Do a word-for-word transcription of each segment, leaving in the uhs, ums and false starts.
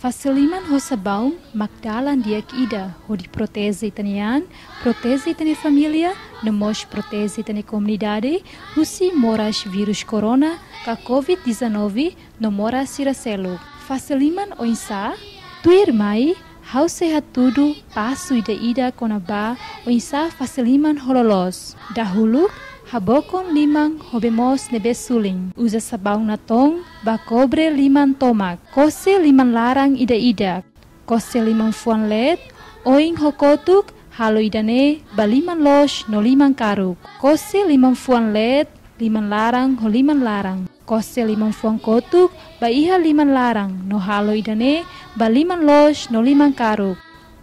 Fase liman ho sabaun mak dalan di'ak ida hodi proteje ita-nia an, proteje ita-nia família, no mós proteje ita-nia komunidade husi moras vírus corona ka covid dezanove no moras sira seluk. Fase liman oinsá? Tuirmai, ha'u sei hatudu pasu ida-idak kona-ba oinsá fase liman ho loloos. Dahuluk, habokon liman ho bee moos ne'ebé sulin. Uza sabaun natoon ba kobre liman tomak. Kose liman laran ida-idak. Kose liman fuan leet, oin ho kotuk, halo ida-ne'e ba liman loos no liman karuk. Kose liman fuan leet, liman laran ho liman laran. Kose liman fuan kotuk ba iha liman laran no halo ida-ne'e ba liman loos no liman karuk.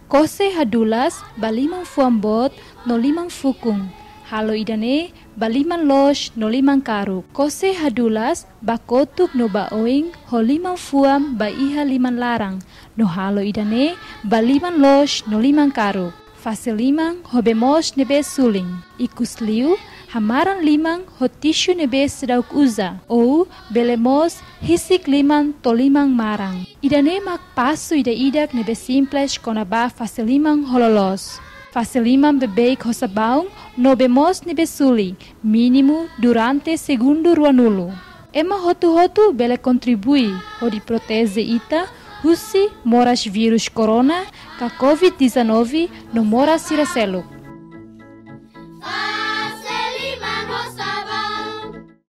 Kose hadulas ba liman fuan boot no liman fukun. Halo ida-ne'e ba liman loos no liman karuk. Kose hadulas ba kotuk no ba oin ho liman fuan ba iha liman laran no halo ida-ne'e ba liman loos no liman karuk. Fase liman ho bee moos ne'ebé sulin. Ikusliu, hamaran liman ho tisu ne'ebé seidauk uza, ou bele mós hisik liman to'o liman maran. Ida-ne'e mak pasu ida-idak ne'ebé simples kona-ba fase liman ho loloos. Fase liman beibeik ho sabaun no bee moos ne'ebé suli, mínimu durante segundu ruanulu. Ema hotu-hotu bele kontribui hodi proteje ita husi moras vírus corona ka covid dezanove no moras sira seluk.